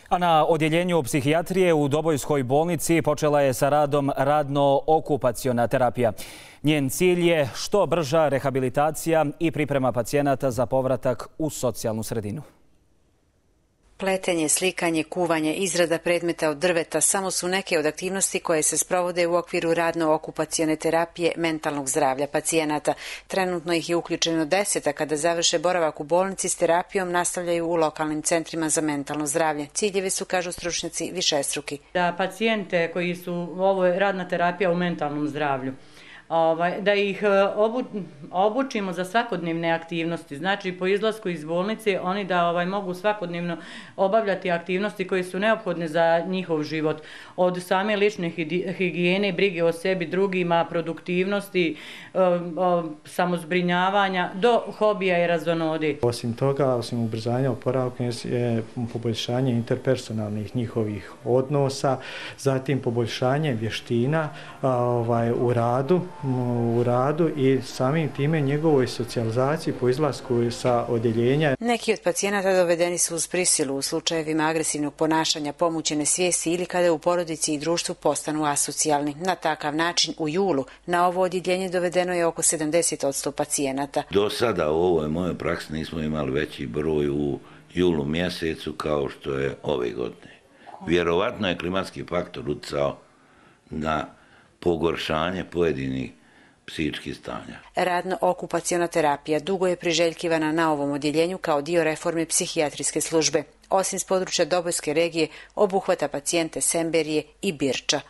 A na odjeljenju psihijatrije u Dobojskoj bolnici počela je sa radom radno-okupaciona terapija. Njen cilj je što brža rehabilitacija i priprema pacijenata za povratak u socijalnu sredinu. Pletenje, slikanje, kuvanje, izrada predmeta od drveta samo su neke od aktivnosti koje se sprovode u okviru radno-okupacione terapije mentalnog zdravlja pacijenata. Trenutno ih je uključeno 10, a kada završe boravak u bolnici s terapijom nastavljaju u lokalnim centrima za mentalno zdravlje. Ciljevi su, kažu stručnjaci, višestruki. Da pacijente koji su, ovo je radna terapija u mentalnom zdravlju, da ih obučimo za svakodnevne aktivnosti. Znači, po izlasku iz bolnice oni da mogu svakodnevno obavljati aktivnosti koje su neophodne za njihov život. Od same lične higijene, brige o sebi, drugima, produktivnosti, samozbrinjavanja do hobija i razonode. Osim toga, osim ubrzanja oporavka je poboljšanje interpersonalnih njihovih odnosa, zatim poboljšanje vještina u radu i samim time njegovoj socijalizaciji po izlasku sa odjeljenja. Neki od pacijenata dovedeni su uz prisilu u slučajevima agresivnog ponašanja, pomućene svijesti ili kada u porodici i društvu postanu asocijalni. Na takav način u julu na ovo odjeljenje dovedeno je oko 70% pacijenata. Do sada u ovoj mojoj praksi nismo imali veći broj u julu mjesecu kao što je ove godine. Vjerovatno je klimatski faktor utjecao na pogoršanje pojedinih psihičkih stanja. Radno-okupaciona terapija dugo je priželjkivana na ovom odjeljenju kao dio reforme psihijatrijske službe. Osim s područja Dobojske regije, obuhvata pacijente Semberije i Birča.